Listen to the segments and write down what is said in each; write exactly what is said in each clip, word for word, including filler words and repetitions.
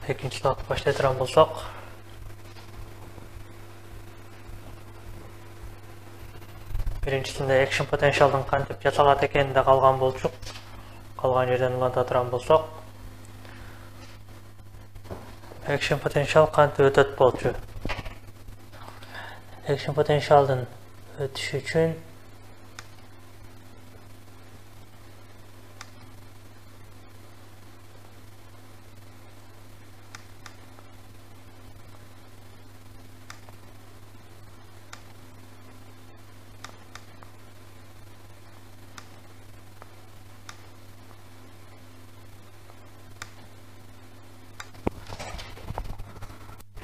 Экинчи слайд баштай турган болсок, биринчисинде action potentialдын кантип жасалат экенинде калган болчук. Калган жерден уланта турган болсок, action potential кантип өтөт болчу. Action potentialдын өтүшү үчүн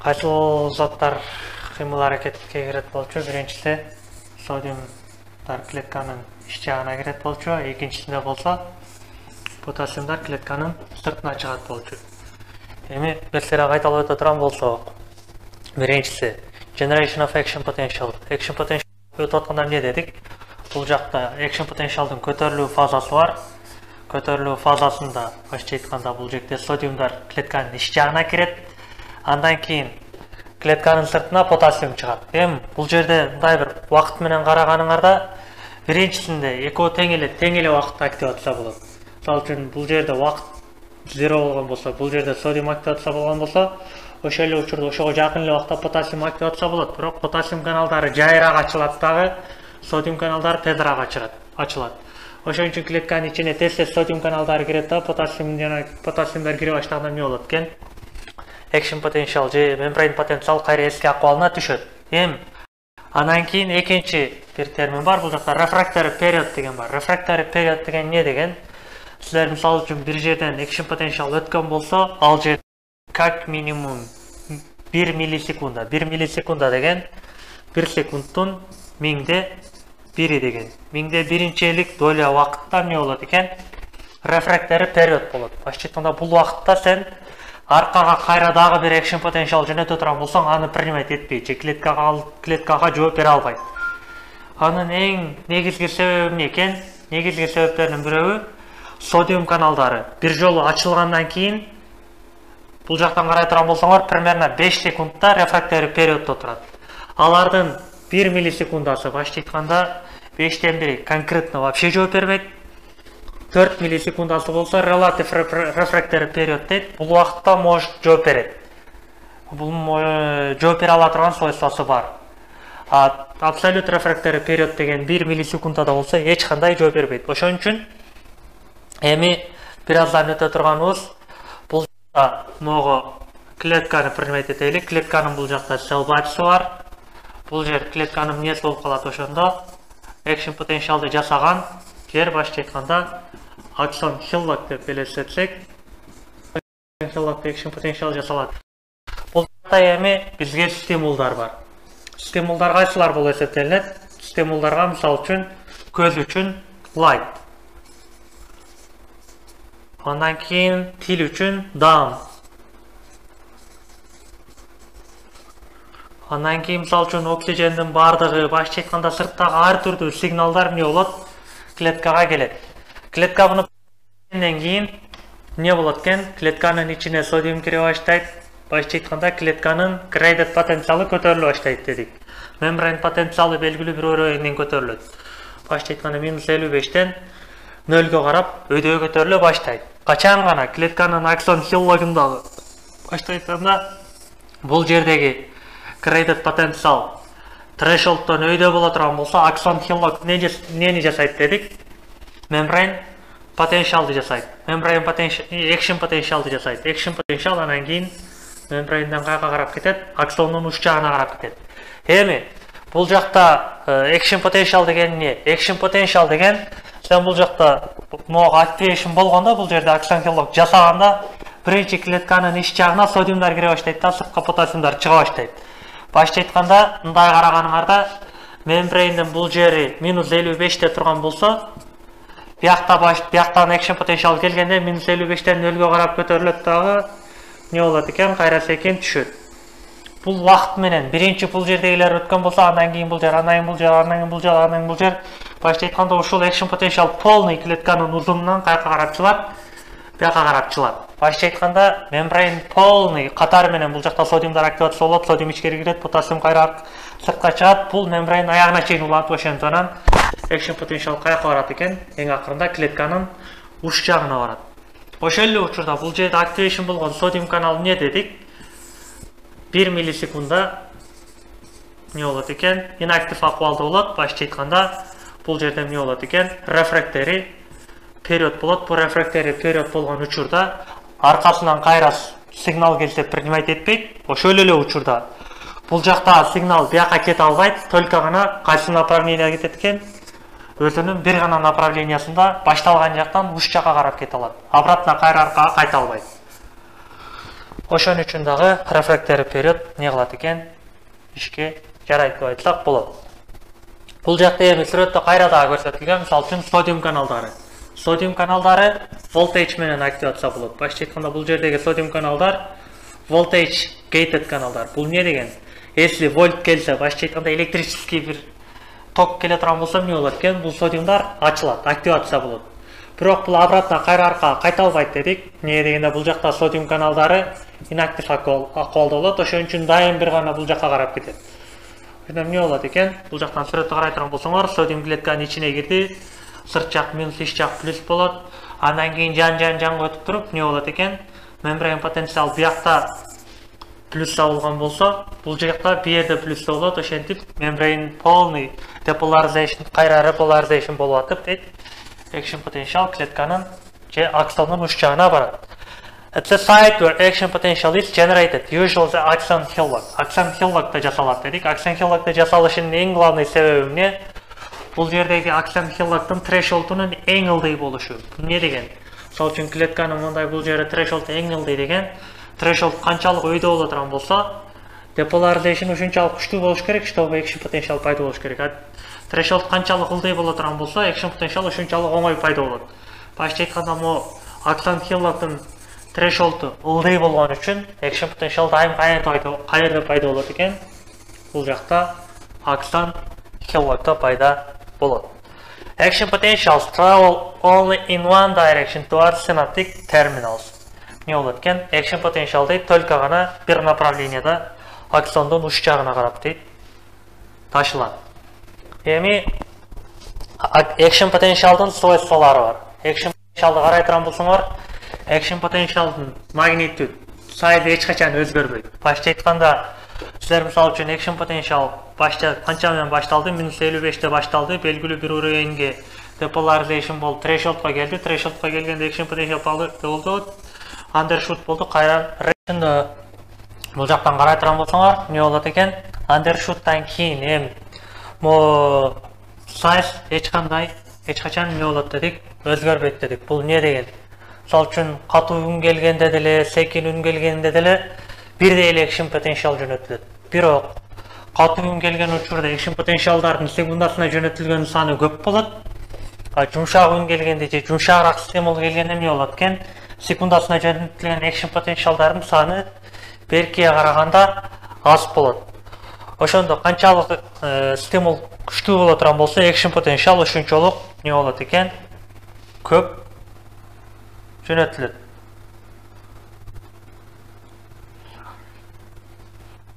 кайсыл заттар кыймыл аракетке кирет болчу. Биринчиси содиумдар клетканын ич жагына кирет болчу, экинчисинде болсо потасиумдар клетканын сыртына чыгат болчу. Эми берселер кайталап өтө турган болсок, биринчиси generation of action potential. Action potential өтүп атканда эмне дедик? Бул жакта action potentialдын көтөрүлүү фазасы бар. Көтөрүлүү фазасында башча айтканда бул жерде содиумдар клетканын ич жагына кирет. Андан кийин клетканын сыртына потасиум чыгат. Эми бул жерде мындай бир убакыт менен караганыңарда биринчисинде экөө тең эле тең эле убакытта активация болот. Мисалы үчүн бул жерде убакыт зеро болгон болсо, бул жерде содиум активация болгон болсо, ошол эле учурда ошого жакын эле убакытта потасиум активация болот. Бирок потасиум каналдары жайыраак ачылат дагы, содиум каналдары тезирээк ачылат. Ачылат. Ошон үчүн клетканын ичине тез-тез содиум каналдары кирет да, потасиум жана потасиумдар кире баштаганда эмне болот экен? Action potential же membrane потенциал кайра эски акыбалына түшөт. Эми андан кийин экинчи бир термин бар, бул жакта refractory period деген бар. Refractory period деген эмне деген? Силер мисалы үчүн бир жерден action potential өткөн болсо, ал жер как минимум бир миллисекунда. бир миллисекунда деген бир секундтун миңде бири деген. Миңде биринчелик доля убакытта эмне болот экен? Refractory period болот. Башча айтканда бул убакытта сен аркага кайра дагы бир action potential жөнөтө турган болсоң, аны принимать этпейт, же клеткага клеткага жооп бере албайт. Анын эң негизги себеби эмне экен? Негизги себептердин бирөө содиум каналдары бир жолу ачылгандан кийин бул жактан карай турган болсоңор, примерно беш секундта refractory periodдо турат. Алардын бир миллисекундасы башча айтканда бештен бири конкретно вообще жооп бербейт. төрт миллисекундасы болсо relative refractory period дейт. Бул убакытта может жооп берет. Бул жооп бере ала турган свойствосы бар. А absolute refractory period деген бир миллисекундада болсо эч кандай жооп бербейт. Ошон үчүн эми бир аздан өтө турганыбыз бул жакта могу клетканы принимать этели. Клетканын бул жакта cell бачысы бар. Бул жер клетканын эмнеси болуп калат, ошондо action potentialды жасаган жер башча айтканда Axon Hillock деп элестетсек, Hillock action potential жасалат. Бул жакта эми бизге стимулдар бар. Стимулдар кайсылар болуп эсептелинет? Стимулдарга мисалы үчүн көз үчүн light. Андан кийин тил үчүн down. Андан кийин мисалы үчүн оксижендин бардыгы башча айтканда сырттагы ар түрдүү сигналдар эмне болот? Клеткага келет. Клетка буну кийин эмне болот экен? Клетканын ичине содиум кире баштайт. Башча айтканда клетканын graded потенциалы көтөрүлө баштайт дедик. Membrane потенциалы белгилүү бир өрөөнүн көтөрүлөт. Башча айтканда минус элүү бештен нөлгө карап өйдө көтөрүлө баштайт. Качан гана клетканын Axon Hillock'ундагы башча айтканда бул жердеги graded потенциал thresholdдон өйдө боло турган болсо, Axon Hillock эмнени жасайт дедик? Membrane potentialды жасайт. Membrane potential, action potentialды жасайт. Action potential анан кийин membrane'ден кайга карап кетет? Axonдун уч жагына карап кетет. Эми бул жакта action potential деген эмне? Action potential деген сен бул жакта могу activation болгондо, бул жерде Axon Hillock жасаганда биринчи клетканын ич жагына содиумдар кире баштайт да, сыртка потасиумдар чыга баштайт. Башча айтканда, мындай караганыңарда membrane'дин бул жери минус элүү беште турган болсо, Бияқта баш, бияқтан action potential келгенде минус элүү бештен нөлгө карап көтөрүлөт дагы не болот экен, кайра секин түшөт. Бул вакыт менен биринчи бул жердегилер өткөн болсо, андан кийин бул жер, андан кийин бул жер, андан кийин бул жер, андан кийин бул жер. Башта айтканда ушул action potential полный клетканын узунунан кайка карап чылат, бияка карап чылат. Башча айтканда мембрейн полный катары менен бул жакта содиумдар активация болот, содиум ичкери кирет, потассиум кайра сыртка чыгат. Бул мембрейн аягына чейин уланып ошондон экшн потенциал каяка барат экен? Эң акырында клетканын уч жагына барат. Ошол эле учурда бул жерде активation болгон содиум канал эмне дедик? бир миллисекундда не болот экен? Инактив акыбалда болот. Башча айтканда бул жерде эмне болот экен? Refractory период болот. Бул refractory период болгон учурда аркасынан кайра сигнал келсе принимать этпейт. Ошол эле учурда бул жакта сигнал бияка кете албайт, только гана кайсы направлениеге кетет экен? Өзүнүн бир гана направлениясында башталган жактан уч жакка карап кете алат. Обратно кайра аркага кайта албайт. Ошон үчүн дагы refractory период не кылат экен? Ишке жарайт деп айтсак болот. Бул жакта эми сүрөттө кайра дагы көрсөтүлгөн, мисалы үчүн содиум каналдары. Содиум каналдары voltage менен активация болот. Башча айтканда бул жердеги содиум каналдар voltage gated каналдар. Бул эмне деген? Если вольт келсе, башча айтканда электрический бир ток келе турган болсо эмне болот экен? Бул содиумдар ачылат, активация болот. Бирок бул обратно кайра аркага кайта албайт дедик. Эмне дегенде бул жакта содиум каналдары инактив акыбалда болот. Ошон үчүн дайым бир гана бул жакка карап кетет. Ошондо эмне болот экен? Бул жактан сүрөттө карай турган болсоңор, содиум клетканын ичине кирди. Сырт жак минус, ич жак плюс болот. Андан кийин жан-жан жанга өтүп туруп эмне болот экен? Мембрейн потенциал биякта плюсса болгон болсо, бул жакта бу жерде плюсса болот. Ошентип мембрейн полный depolarization, кайра repolarization болуп атып дейт. Action potential клетканын же аксондун уч жагына барат. At the site where action potential is generated, usually the axon hillock. Axon hillock'та жасалат дедик. Axon hillock'та жасалышынын эң главный себеби эмне? Бул жердеги axon hillock'тун threshold'унун эң ылдый болушу. Эмне деген? Мисалы үчүн клетканын мындай бул жерде threshold эң ылдый деген, threshold канчалык өйдө боло турган болсо, depolarization ушунчалык күчтүү болуш керек, чтобы action potential пайда болуш керек. Threshold канчалык ылдый боло турган болсо, action potential ушунчалык оңой пайда болот. Башча айтканда, мо axon hillock'тун threshold'у ылдый болгон үчүн action potential дайым кайерде пайда болот экен? Бул жакта axon hillock'та пайда болот. Action potentials travel only in one direction towards synaptic terminals. Не болот экен? Action potential дейт только гана бир направленияда аксондун уч жагына карап дейт ташылат. Эми action potentialдын свойстволору бар. Action potentialды карай турган болсоңор, action potentialдын magnitude size эч качан өзгөрбөйт. Башча айтканда, силер мисалы үчүн action potential башта канча менен башталды? минус элүү беште башталды, белгилүү бир уровеньге depolarization болуп, threshold'га келди. Threshold'га келгенде action potential болду, undershoot болду, кайра ретинде бул жактан карай турган болсоңор, эмне болот экен? Undershoot'тан кийин эми мо size эч кандай эч качан эмне болот дедик? Өзгөрбөйт дедик. Бул эмне деген? Мисалы үчүн катуу үн келгенде деле, секин үн келгенде деле бирдей эле action potential жөнөтүлөт. Бирок катуу үн келген учурда action potentialдардын секундасына жөнөтүлгөн саны көп болот. А жумшак үн келгенде же жумшагыраак стимул келгенде эмне болот экен? Секундасына жөнөтүлгөн action potentialдардын саны беркиге караганда аз болот. Ошондо канчалык стимул күчтүү боло турган болсо, action potential ошончолук эмне болот экен? Көп жөнөтүлөт.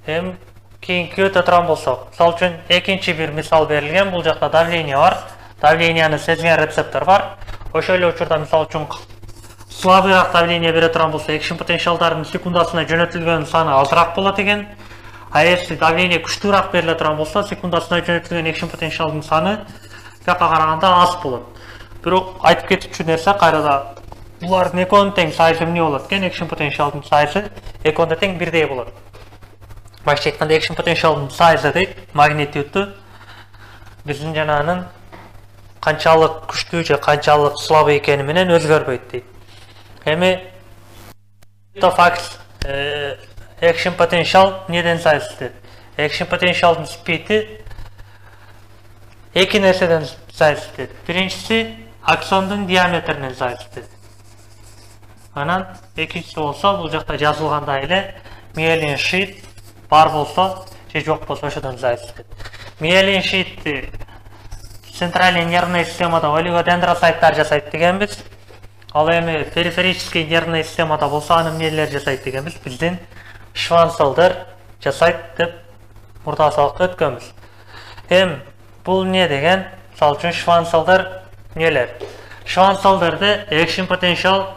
Эми кийинки өтө турган болсок, мисалы үчүн экинчи бир мисал берилген. Бул жакта давление бар. Давленияны сезген рецептор бар. Ошол эле учурда мисалы үчүн слабыйраак давление бере турган болсо, action potentialдардын секундасына жөнөтүлгөн саны азыраак болот экен. А если давление күчтүүрөөк бериле турган болсо, секундасына жөнөтүлгөн action potentialдын саны бияка караганда аз болот. Бирок айтып кетүүчү нерсе кайрада булардын экөөнүн тең сайзы эмне болот экен? Action potentialдын сайзы экөөнү тең бирдей болот. Башча айтканда action potentialдын сайзы дейт, магнитюдту биздин жанагынын канчалык күчтүү же канчалык слабый экени менен өзгөрбөйт дейт. Эми факт action potential неден сайзы? Action potentialдын спиди эки нерседен сайзы. Биринчиси аксондун диаметринен сайзы. Анан экинчиси болсо, бул жакта жазылгандай эле myelin sheath бар болсо же жок болсо ошодон сайзы. Myelin sheathти центральный нервный системада олигодендроцайттар жасайт дегенбиз. Ал эми периферический нервная системада болсо аны эмнелер жасайт дегенбиз? Биздин шванцелдер жасайт деп мурда сабакта өткөнбүз. Эм бул эмне деген? Мисалы үчүн шванцелдер нелер? Шванцелдерде action potential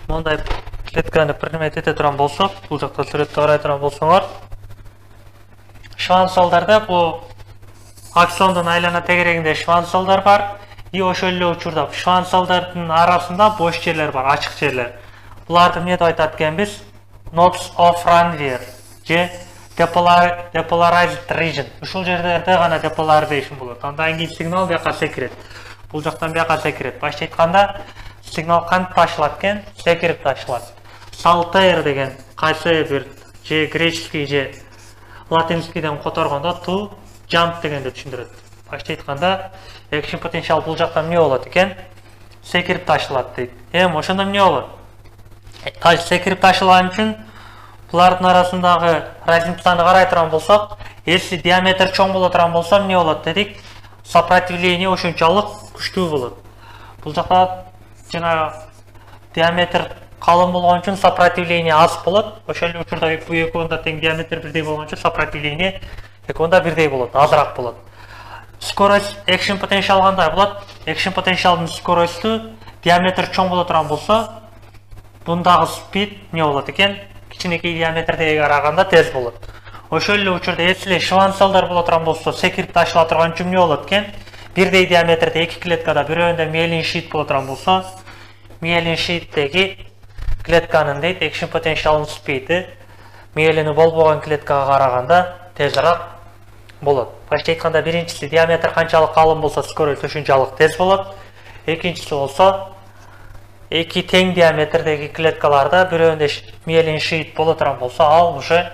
мондай клетканы примет эте турган болсок, бул жакта сүрөттө карай турган болсоңор, шванцелдерде бул аксондун айлана тегерегинде шванцелдер бар. И ошол эле учурда шванцелдердин арасында бош жерлер бар, ачык жерлер. Буларды эмне деп айтат экенбиз? Nodes of Ranvier же depolarized region. Ушул жерлерде гана depolarization болот. Андан кийин сигнал бияка секирет. Бул жактан бияка секирет. Башка айтканда, сигнал кантип ташылат экен? Секирип ташылат. Saltair деген кайсы бир же греческий же латинскийден которгондо to jump дегенди түшүндүрөт. Башка айтканда, action potential бул жактан эмне болот экен? Секирип ташылат дейт. Эми ошондо эмне болот? Таш секирип ташылган үчүн булардын арасындагы разницаны карай турган болсок, если диаметр чоң боло турган болсо эмне болот дедик? Сопротивление ошончолук күчтүү болот. Бул жакта жана диаметр калың болгон үчүн сопротивление аз болот. Ошол эле учурда бул экөөнүн тең диаметр бирдей болгон үчүн сопротивление экөөнүн бирдей болот, азыраак болот. Скорость action potential кандай болот? Action potentialдын скоросту диаметр чоң боло турган болсо, бундагы speed эмне болот экен? Кичинекей диаметрдеги караганда тез болот. Ошол эле учурда если шванцелдер боло турган болсо, секирип ташыла турган үчүн эмне болот экен? Бирдей диаметрде эки клеткада бирөөндө myelin sheet боло турган болсо, myelin sheet'теги клетканын дейт action potential'ын speed'i myelini болбогон клеткага караганда тезирээк болот. Башка айтканда, биринчиси диаметр канчалык калың болсо, скорость ошончалык тез болот. Экинчиси болсо, эки тең диаметрдеги клеткаларда бирөөндө myelin sheet боло турган болсо, ал уже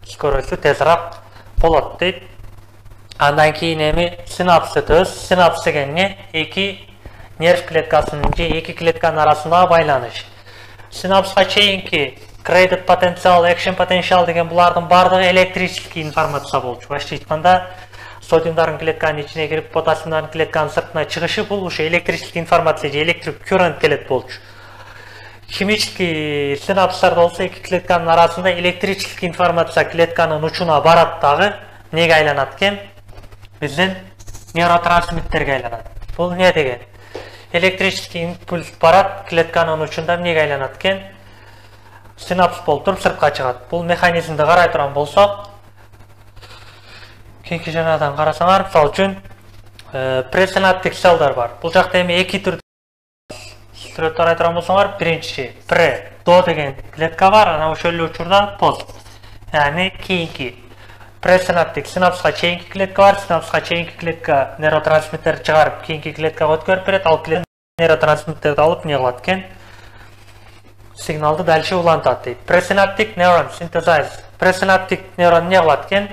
скоросту тезирээк болот дейт. Андан кийин эми синапс өтөбүз. Синапс деген эмне? Эки нерв клеткасынын же эки клетканын арасындагы байланыш. Синапска чейинки graded potential, action potential деген булардын бардыгы электрический информация болчу. Башка айтканда, содиумдардын клетканын ичине кирип, потасиумдардын клетканын сыртына чыгышы бул ушу электрический информация же электрик current келет болчу. Химический синапстарда болсо эки клетканын арасында электрический информация клетканын учуна барат дагы неге айланат экен? Биздин нейротрансмиттерге айланат. Бул эмне деген? Электрический импульс барат клетканын учунда эмнеге айланат экен? Синапс болуп туруп сыртка чыгат. Бул механизмди карай турган болсок, кийинки жанадан карасаңар, мисалы үчүн пресинаптик селдер бар. Бул жакта эми эки түрдө сүрөттү карай турган болсоңор, биринчи пре, до деген клетка бар, анан ошол эле учурда пост. Яни кийинки пресинаптик синапска чейинки клетка бар, синапска чейинки клетка нейротрансмиттер чыгарып, кийинки клеткага өткөрүп берет, ал клетка нейротрансмиттерди алып эмне кылат экен? Сигналды дальше улантат дейт. Пресинаптик нейрон синтезайз. Пресинаптик нейрон эмне кылат экен?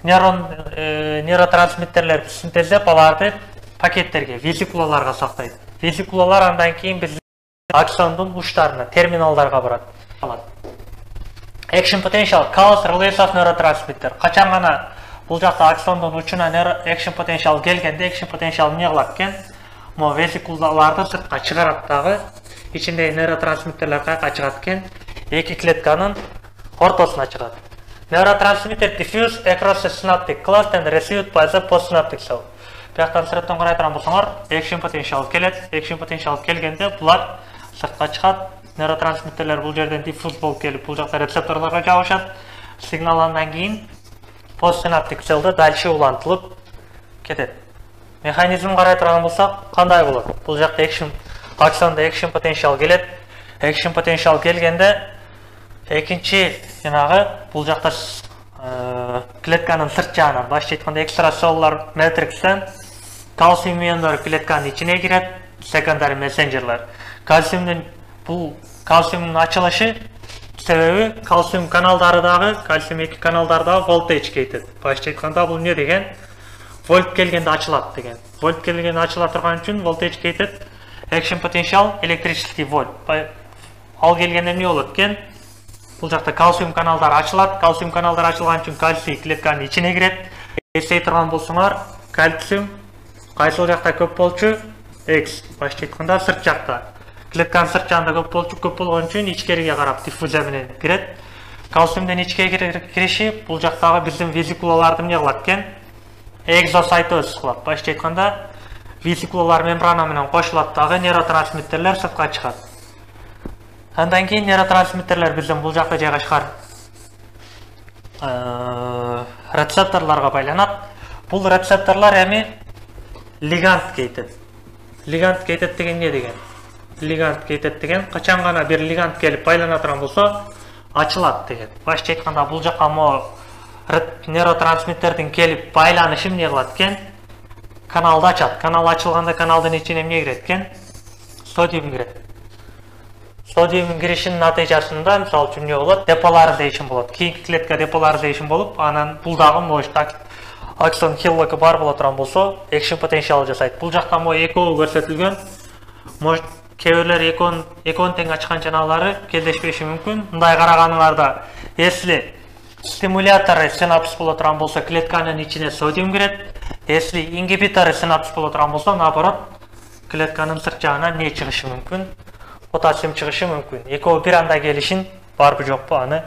Нейрон нейротрансмиттерлерди синтездеп, аларды пакеттерге, весикулаларга сактайт. Весикулалар андан кийин биз аксондун учтарына, терминалдарга барат. Action potential cause release of neurotransmitter. Качан гана бул жакта аксондун учуна action potential келгенде, action potential эмне кылат экен? Мо весикулаларды сыртка чыгарат дагы, ичиндеги нейротрансмиттерлер каяка чыгат экен? Эки клетканын ортосуна чыгат. Neurotransmitter diffuse across the synaptic cluster and received by the postsynaptic cell. Бияктан сүрөттөн карай турган болсоңор, action potential келет. Action potential келгенде булар сыртка чыгат. Нейротрансмиттерлер бул жерден диффуз болуп келип, бул жакта рецепторлорго жабышат. Сигнал андан кийин постсинаптик селде дальше улантылып кетет. Механизм карай турган болсак, кандай болот? Бул жакта action аксонда action potential келет. Action potential келгенде экинчи жанагы бул жакта клетканын сырт жагынан, башка айтканда экстраселлуляр матрикстен кальциум иондор клетканын ичине кирет, secondary messengerler. Кальциумдун бул кальциумдун ачылышы себеби кальциум каналдары дагы, кальциум эки каналдардагы волтаж кетет. Башка айтканда бул эмне деген? Вольт келгенде ачылат деген. Вольт келгенде ачыла турган үчүн волтаж кетет. Action potential электрический вольт. Ал келгенде эмне болот экен? Бул жакта кальциум каналдары ачылат. Кальциум каналдары ачылган үчүн кальций клетканын ичине кирет. Эстей турган болсоңор, кальциум кайсыл жакта көп болчу? X. Башка айтканда сырт жакта. клетканын сырт жагында көп болчу, көп болгон үчүн ичкериге карап диффузия менен кирет. Калциумдун ичкериге кириши бул жактагы биздин весикулаларды эмне кылат экен? Экзосайтоз кылат. Башкача айтканда, весикулалар мембрана менен кошулат дагы нейротрансмиттерлер сыртка чыгат. Андан кийин нейротрансмиттерлер биздин бул жакта жайгашкан рецепторлорго байланат. Бул рецепторлор эми лигандга кетет. Лигандга кетет деген эмне деген? Лигандга кетет деген качан гана бир лиганд келип байлана турган болсо, ачылат деген. Башкача айтканда, бул жакка мо нейротрансмиттердин келип байланышы эмне кылат экен? Каналды ачат. Канал ачылганда каналдын ичине эмне кирет экен? Содиум кирет. Содиумдун киришинин натыйжасында мисалы үчүн эмне болот? Деполаризation болот. Кийинки клетка деполаризation болуп, анан бул дагы мош аксон хиллоку бар боло турган болсо, экшн потенциал жасайт. Бул жакта мо экөө көрсөтүлгөн. Мош кээ бирлер экөөнүн экөөнүн тең ачкан чаналары келдешпеши мүмкүн. Мындай караганыңарда, если стимуляторы синапс боло турган болсо, клетканын ичине содиум кирет. Если ингибиторы синапс боло турган болсо, наоборот, клетканын сырт жагына не чыгышы мүмкүн? Потасиум чыгышы мүмкүн. Экөө бир анда келишин барбы жокпу, аны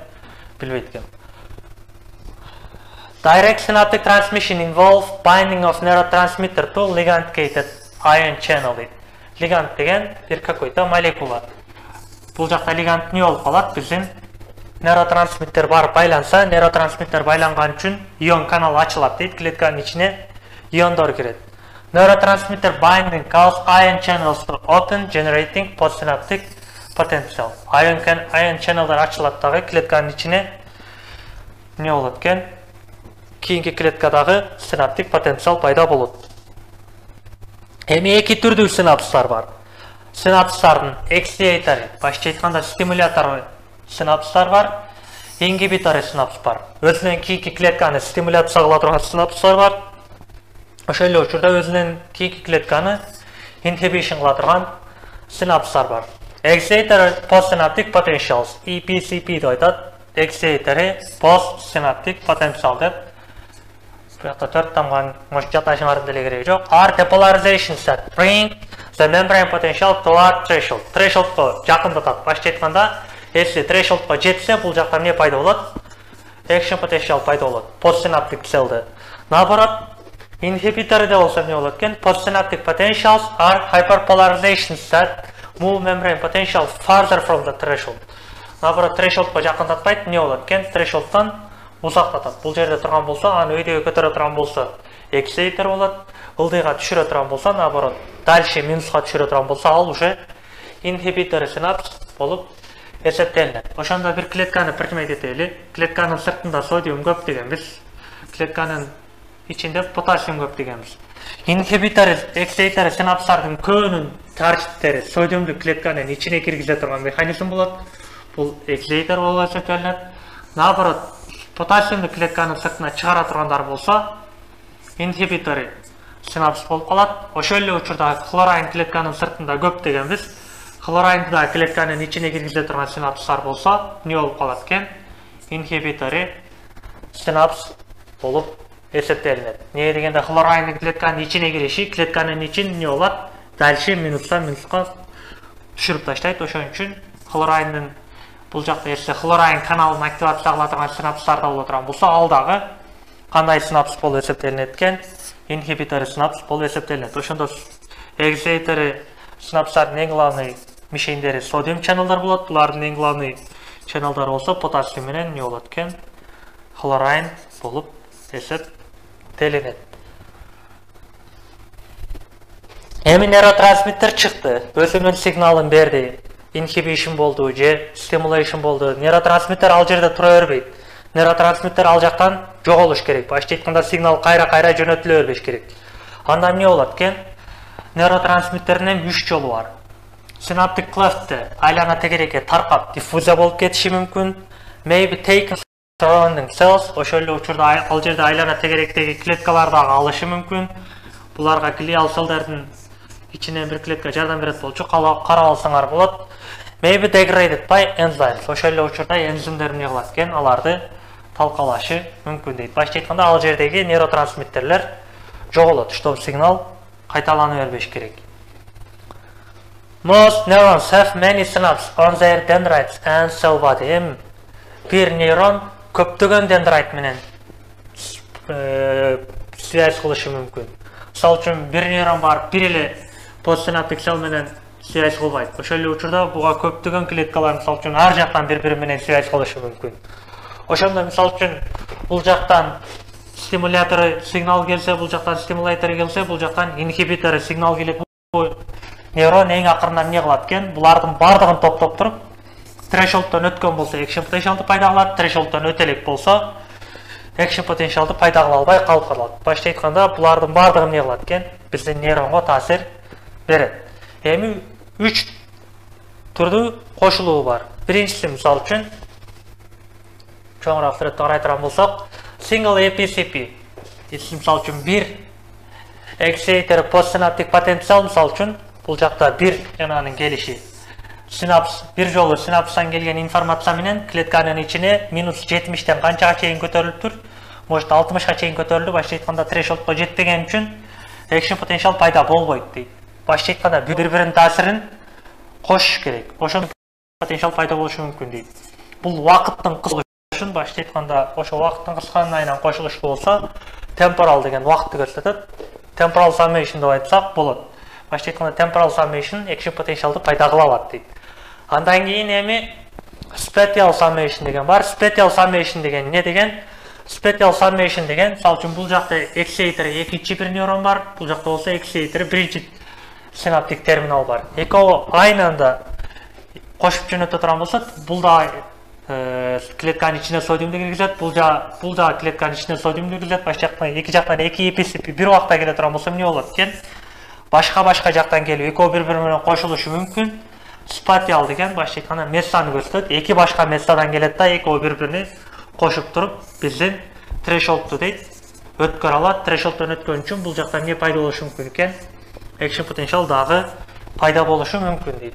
билбейт экем. Direct synaptic transmission involve binding of neurotransmitter to ligand-gated ion channel. Ligand деген бир какой-то молекула. Бул жакта лиганд не болуп калат? Биздин нейротрансмиттер бар байланса, нейротрансмиттер байланган үчүн ион канал ачылат дейт, клетканын ичине иондор кирет. Neurotransmitter binding cause ion channels to open, generating postsynaptic potential. Ion ion channelдар ачылат дагы, клетканын ичине не болот экен? Кийинки клеткадагы синаптик потенциал пайда болот. Эми эки түрдүү синапстар бар. Синапстардын эксцитаторы, башкача айтканда стимулятор синапстар бар, ингибитор синапс бар. Өзүнөн кийинки клетканы стимуляция кыла турган синапстар бар. Ошол эле учурда өзүнөн кийинки клетканы inhibition кыла турган синапстар бар. Excitor postsynaptic potentials, E P C P деп айтат. Excitor postsynaptic potential деп. Буякта төрт тамган мош жаташыңардын деле кереги жок. Are depolarizations that bring the membrane potential toward threshold. Thresholdко жакындатат. Башкача айтканда, если thresholdко жетсе, бул жакта эмне пайда болот? Action potential пайда болот. Postsynaptic cellде. Наоборот, inhibitor'da болсо эмне болот экен? Postsynaptic potentials are hyperpolarizations that move membrane potential farther from the threshold. Наоборот, thresholdко жакындатпайт, эмне болот экен? Thresholdтан узактатат. Бул жерде турган болсо, аны өйдөгө көтөрө турган болсо, excitator болот. Ылдыйга түшүрө турган болсо, наоборот, дальше минуска түшүрө турган болсо, ал уже inhibitor синапс болуп эсептелинет. Ошондо бир клетканы пиртмейт этели. Клетканын сыртында содиум көп дегенбиз. Клетканын ичинде потасиум көп дегенбиз. Inhibitor, excitator синапстардын көбүнүн таркиптери содиумду клетканын ичине киргизе турган механизм болот. Бул excitator болуп эсептелинет. Наоборот, потасиумду клетканын сыртына чыгара тургандар болсо, inhibitor синапс болуп калат. Ошол эле учурда хлорайн клетканын сыртында көп дегенбиз. Хлорайнды да клетканын ичине киргизе турган синапстар болсо, эмне болуп калат экен? Inhibitor синапс болуп эсептелинет. Не дегенде хлорайндын клетканын ичине кириши, клетканын ичин эмне болот? Дальше минустан минуска түшүрүп таштайт. Ошон үчүн хлорайндын бул жакта эсе хлорайн каналын активация кыла турган синапстарда боло турган болсо, ал дагы кандай синапс болуп эсептелинет экен? Inhibitor синапс болуп эсептелинет. Ошондо excitator синапстардын эң главный мишендери содиум чаналдар болот. Булардын эң главный чаналдары болсо, потасиум менен эмне болот экен? Хлорайн болуп эсептелинет. Эми нейротрансмиттер чыкты, өзүнүн сигналын берди. Inhibition болду же stimulation болду. Нейротрансмиттер ал жерде тура бербейт. Нейротрансмиттер ал жактан жоголуш керек. Башкача айтканда, сигнал кайра-кайра жөнөтүлө бербеш керек. Анда эмне болот экен? Нейротрансмиттердин үч жолу бар. Synaptic cleft'те айлана тегерекке таркап диффузия болуп кетиши мүмкүн. Maybe taken surrounding cells, ошол эле учурда ал жерде айлана тегеректеги клеткалар дагы алышы мүмкүн. Буларга глиал селдердин ичинен бир клетка жардам берет болчу, карап алсаңар болот. Maybe degraded by enzymes. Ошол эле учурда энзимдер эмне кылат экен? Аларды талкалашы мүмкүн дейт. Башкача айтканда, ал жердеги нейротрансмиттерлер жоголот, чтобы сигнал кайталана бербеш керек. Most neurons have many synapses on their dendrites and cell body. Эми бир нейрон көптөгөн дендрайт менен связь кылышы мүмкүн. Мисалы үчүн бир нейрон бар, бир эле постсинаптик cell менен связь кылбайт. Ошол эле учурда буга көптөгөн клеткалар мисалы үчүн ар жактан бири-бири менен связь кылышы мүмкүн. Ошондо мисалы үчүн бул жактан стимулятору сигнал келсе, бул жактан стимулятору келсе, бул жактан инхибитору сигнал келет. Нейрон эң акырында эмне кылат экен? Булардын бардыгын топтоп туруп, трешолддон өткөн болсо экшен потенциалды пайда кылат, трешолддон өтө элек болсо экшен потенциалды пайда кыла албай калып калат. Башка айтканда, булардын бардыгы эмне кылат экен? Биздин нейронго таасир берет. Эми үч түрдүү кошулуу бар. Биринчиси мисалы үчүн чоңураак сүрөттө карай турган болсок, single A P C P. Мисалы үчүн бир excitator постсинаптик потенциал мисалы үчүн бул жакта бир жананын келиши. Синапс бир жолу синапстан келген информация менен клетканын ичине минус жетимиштен канчага чейин көтөрүлүптүр? Может алтымышка чейин көтөрүлдү. Башка айтканда трешолдко жетпеген үчүн экшен потенциал пайда болбойт дейт. Башка айтканда бири-биринин таасирин кошуш керек. Ошондо потенциал пайда болушу мүмкүн дейт. Бул убакыттын кыскалышын башка айтканда ошо убакыттын кыскалыгынан айынан кошулуш болсо temporal деген убакытты көрсөтөт. Temporal summation деп айтсак болот. Башка айтканда temporal summation экшен потенциалды пайда кыла алат дейт. Андан кийин эми spatial summation деген бар. Spatial summation деген эмне деген? Spatial summation деген, мисалы үчүн бул жакта excitator экинчи бир нейрон бар, бул жакта болсо excitator биринчи синаптик терминал бар. Экөө айны анда кошуп жөнөтө турган болсо, бул да клетканын ичине содиумду киргизет, бул да бул да клетканын ичине содиумду киргизет. Башка жактан эки жактан эки A P C P бир убакта келе турган болсо эмне болот экен? Башка-башка жактан келип экөө бири-бири менен кошулушу мүмкүн. Spatial деген башка айтканда мессаны көрсөтөт. Эки башка мессадан келет да экөө бири-бирине кошуп туруп биздин трешолдду дейт өткөрө алат. Трешолддон өткөн үчүн бул жакта эмне пайда болушу мүмкүн экен? Экшен потенциал дагы пайда болушу мүмкүн дейт.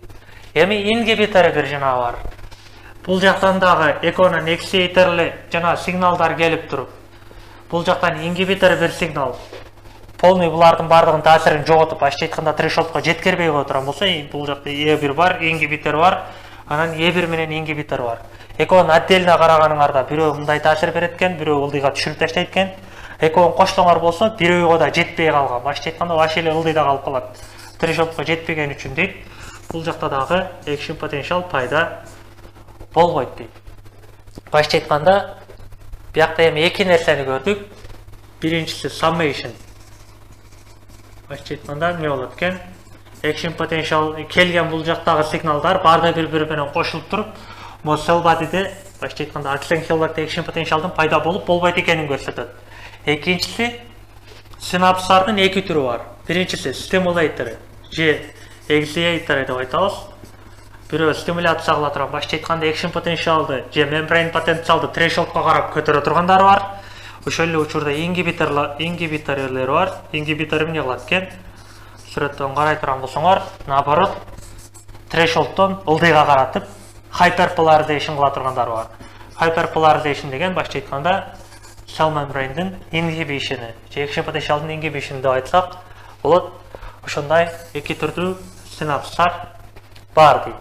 Эми ингибитор бир жана бар. Бул жактан дагы экөөнүн excitatorлы жана сигналдар келип туруп, бул жактан ингибитор бир сигнал полный булардын бардыгын таасирин жоготуп, башка айтканда трешолдко жеткирбей кое турган болсо, бул жакта E бир бар, ингибитор бар, анан E бир менен ингибитор бар. Экөөнүн отдельно караганыңарда бирөө мындай таасир берет экен, бирөө ылдыйга түшүрүп таштайт экен. Экөөнүн коштоңор болсо, бирөөгө да жетпей калган. Башка айтканда вообще эле ылдыйда калып калат. Трешолдко жетпеген үчүн дейт. Бул жакта дагы экшен потенциал пайда болбойт дейт. Башка айтканда, биякта эми эки нерсени көрдүк. Биринчиси summation. Башка айтканда эмне болот экен? Экшен потенциал келген бул жактагы сигналдар баарды бири-бири менен кошулуп туруп, mo cell body'де башка айтканда аксенхелларда экшен потенциалдын пайда болуп болбойт экенин көрсөтөт. Экинчиси синапстардын эки түрү бар. Биринчиси stimulator же excitator деп айтабыз. Бирөө стимуляция кыла турган, башка айтканда экшен потенциалды же membrane потенциалды трешолдко карап көтөрө тургандар бар. Ошол эле учурда ингибиторлор, ингибиторлор бар. Ингибитор эмне кылат экен? Сүрөттөн карай турган болсоңор, наоборот, трешолддон ылдыйга каратып, hyperpolarization кыла тургандар бар. Hyperpolarization деген башка айтканда cell membrane'дин inhibition, же экшен потенциалдын inhibition деп айтсак болот. Ошондой эки түрдүү синапстар бар дейт.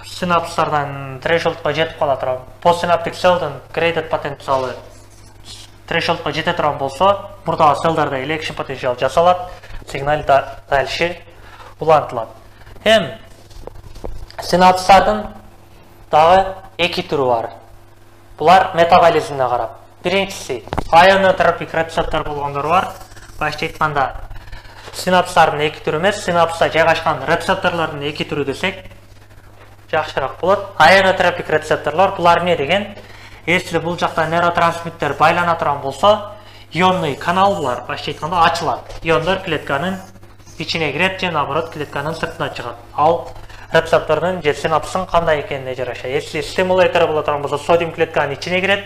Синапстардан трешолдко жетип кала турган, постсинаптик cellдин graded потенциалы трешолдко жете турган болсо, мурдагы селлдарда эле экшен потенциал жасалат, сигнал дальше улантылат. Эми синапстардын дагы эки түрү бар. Булар метаболизмине карап. Биринчиси ионотропик рецептор болгондор бар. Башка айтканда синапстардын эки түрү эмес, синапста жайгашкан рецепторлордун эки түрү десек жакшыраак болот. Ионотропик рецепторлор булар эмне деген? Если бул жакта нейротрансмиттер байлана турган болсо, ионный канал булар башка айтканда ачылат. Иондор клетканын ичине кирет же наоборот клетканын сыртына чыгат. Ал рецептордун же синапстын кандай экенине жараша. Если стимулятор боло турган болсо, содиум клетканын ичине кирет.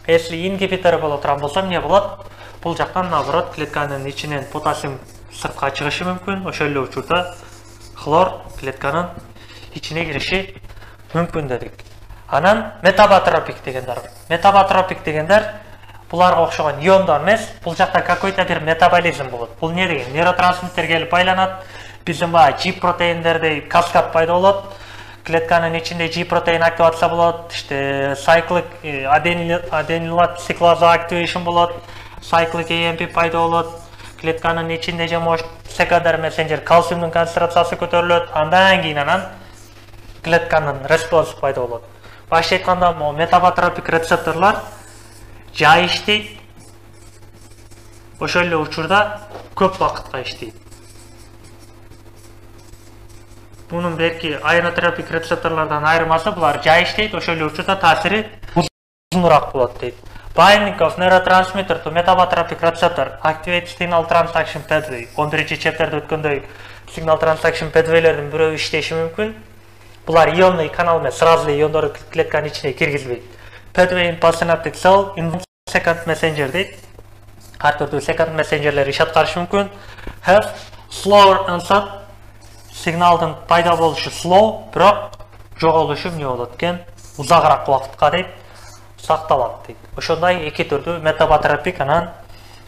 Если ингибитор боло турган болсо, эмне болот? Бул жактан наоборот клетканын ичинен потасиум сыртка чыгышы мүмкүн. Ошол эле учурда хлор клетканын ичине кириши мүмкүн дедик. Анан метаботропик дегендер. Метаботропик дегендер буларга окшогон иондор эмес, бул жакта какой-то бир метаболизм болот. Бул эмне деген? Нейротрансмиттер келип байланат, биздин баягы G протеиндердей каскад пайда болот. Клетканын ичинде G протеин активация болот, işte cyclic adenylat cyclase activation болот, cyclic A M P пайда болот. Клетканын ичинде же может секондар мессенджер кальциумдун концентрациясы көтөрүлөт. Андан кийин анан клетканын респонсу пайда болот. Башка айтканда, могу метаботропик рецепторлор жай иштейт. Ошол эле учурда көп вакытка иштейт. Bunun belki ionotropik retseptorlardan ayırması bular jay иштейт, ошол эле учурда таасири узунураак болот дейт. Binding of neurotransmitter to metabotropic receptor activates signal transaction pathway. он биринчи чептерде өткөндөй signal transaction pathwaylердин бирөө иштеши мүмкүн. Булар ионный канал менен сразу эле иондорду клетканын ичине киргизбейт. Pathway in postsynaptic cell in second messenger дейт. Ар түрдүү second messengerler иш аткарышы мүмкүн. Have slower onset сигналдын пайда болушу slow, бирок жоголушу эмне болот экен? Узагыраак убакытка дейт, сакталат дейт. Ошондой эки түрдүү метаботропик анан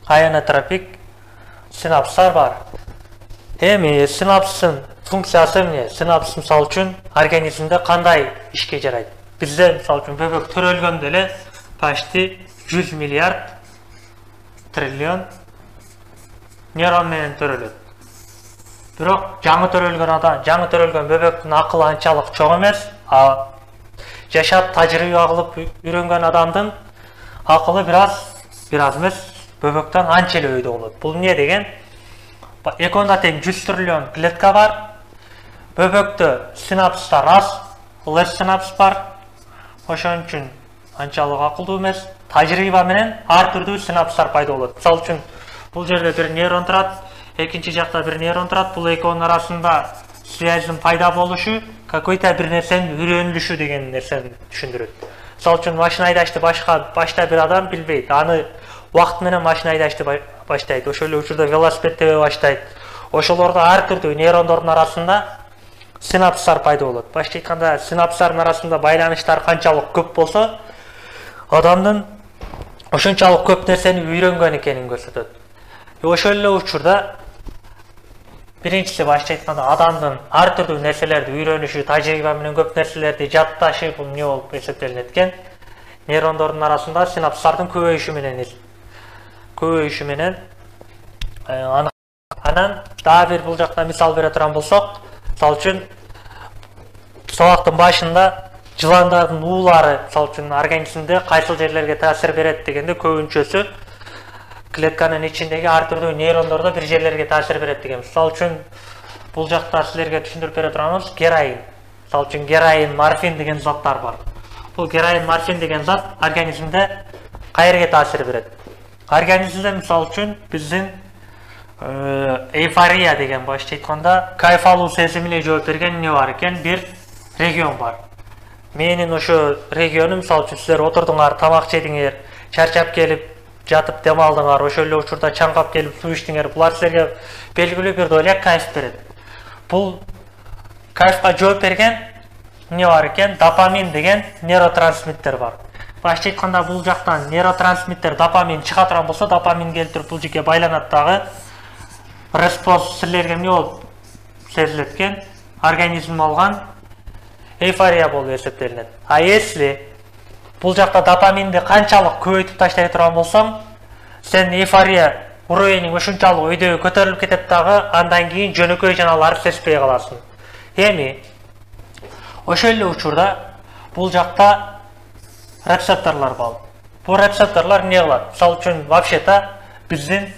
ионотропик синапстар бар. Эми синапстын функциясы эмне? Синапс мисалы үчүн организмде кандай ишке жарайт? Бизде мисалы үчүн бөбөк төрөлгөндө эле почти жүз миллиард триллион нейрон менен төрөлөт. Бирок жаңы төрөлгөн адам, жаңы төрөлгөн бөбөктүн акылы анчалык чоң эмес. А жашап тажрыйба кылып үйрөнгөн адамдын акылы бир аз, бир аз эмес, бөбөктөн анча эле өйдө болот. Бул эмне деген? Эконда тең жүз триллион клетка бар. Бөбөктө синапстар аз, лес синапс бар. Ошон үчүн анчалык акылдуу эмес. Тажрыйба менен ар түрдүү синапстар пайда болот. Мисалы үчүн бул жерде бир нейрон турат, экинчи жакта бир нейрон турат. Бул экөөнүн арасында связьдын пайда болушу, какой-то бир нерсенин үйрөнүлүшү деген нерсени түшүндүрөт. Мисалы үчүн машина айдашты башка башта бир адам билбейт. Аны убакыт менен машина айдашты баштайт. Ошол эле учурда велосипед тебе баштайт. Ошолордо ар түрдүү нейрондордун арасында синапстар пайда болот. Башка айтканда, синапстардын арасында байланыштар канчалык көп болсо, адамдын ошончалык көп нерсени үйрөнгөн экенин көрсөтөт. Ошол эле учурда биринчиси башка айтканда адамдын ар түрдүү нерселерди үйрөнүшү, тажрыйба менен көп нерселерди жатташы бул эмне болуп эсептелинет экен? Нейрондордун арасында синапстардын көбөйүшү менен көбөйүшү менен анан дагы бир бул жакта мисал бере турган болсок, мисалы үчүн сабактын башында жыландардын уулары, мисалы үчүн организмде кайсыл жерлерге таасир берет дегенде көбүнчөсү клетканын ичиндеги ар түрдүү нейрондордо бир жерлерге таасир берет деген. Мисалы үчүн бул жакта силерге түшүндүрүп бере турганыбыз героин. Мисалы үчүн героин, морфин деген заттар бар. Бул героин, морфин деген зат организмде кайерге таасир берет? Организмде мисалы үчүн биздин эйфория деген башка айтканда кайф алуу сезимине жооп берген эмне бар экен? Бир регион бар. Менин ошо регионум, мисалы үчүн силер отурдуңар, тамак жедиңер, чарчап келип жатып дем алдыңар, ошол эле учурда чаңкап келип суу ичтиңер. Булар силерге белгилүү бир доля кайф берет. Бул кайфка жооп берген эмне бар экен? Допамин деген нейротрансмиттер бар. Башка айтканда, бул жактан нейротрансмиттер допамин чыга турган болсо, допамин келип туруп бул жерге байланат дагы. Респонс силерге эмне болуп сезилет экен? Организм алган эйфория болуп эсептелинет. А если бул жакта допаминди канчалык көбөйтүп таштай турган болсоң, сен эйфория уровениң ошончалык өйдөгө көтөрүлүп кетет дагы, андан кийин жөнөкөй жаналарды сезбей каласың. Эми ошол эле учурда бул жакта рецепторлор бар. Бул рецепторлор эмне кылат? Мисалы үчүн вообще-то биздин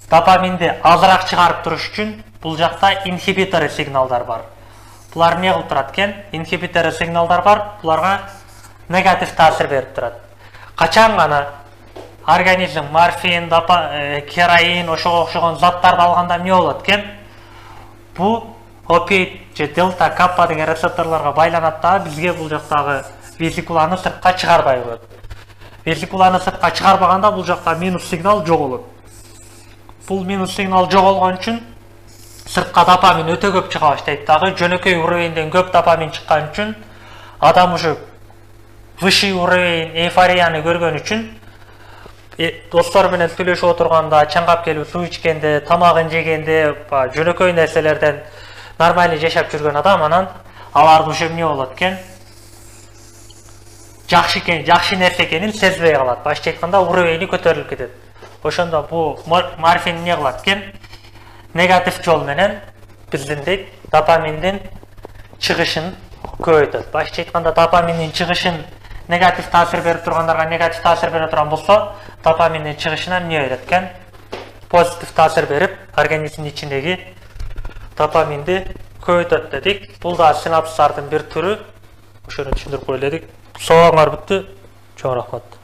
допаминди азыраак чыгарып туруш үчүн бул жакта инхибитор сигналдар бар. Булар эмне кылып турат экен? Инхибитор сигналдар бар. Буларга негатив таасир берип турат. Качан гана организм морфин, героин, ошого окшогон заттарды алганда эмне болот экен? Бу опиоид же дельта каппа деген рецепторлорго байланат дагы, бизге бул жактагы весикуланы сыртка чыгарбай коет. Весикуланы сыртка чыгарбаганда бул жакта минус сигнал жоголот. Бул минус сигнал жоголгон үчүн сыртка допамин өтө көп чыга баштайт дагы, жөнөкөй уровенден көп допамин чыккан үчүн адам ушу высший уровень эйфорияны көргөн үчүн достор менен сүйлөшүп отурганда, чаңгап келип суу ичкенде, тамагын жегенде, жөнөкөй нерселерден нормально жашап жүргөн адам анан аларды ошо эмне болот экен? Жакшы экен, жакшы нерсе экенин сезбей калат. Башкача айтканда уровени көтөрүлүп кетет. Ошондо бу морфин эмне кылат экен? Негатив жол менен биздин дейт допаминдин чыгышын көбөйтөт. Башкача айтканда допаминдин чыгышын негатив таасир берип тургандарга негатив таасир бере турган болсо, допаминдин чыгышына эмне берет экен? Позитив таасир берип, организмдин ичиндеги допаминди көбөйтөт дедик. Бул да синапстардын бир түрү. Ошону түшүндүрүп кой эледик. Соңуңар бүттү. Чоң рахмат.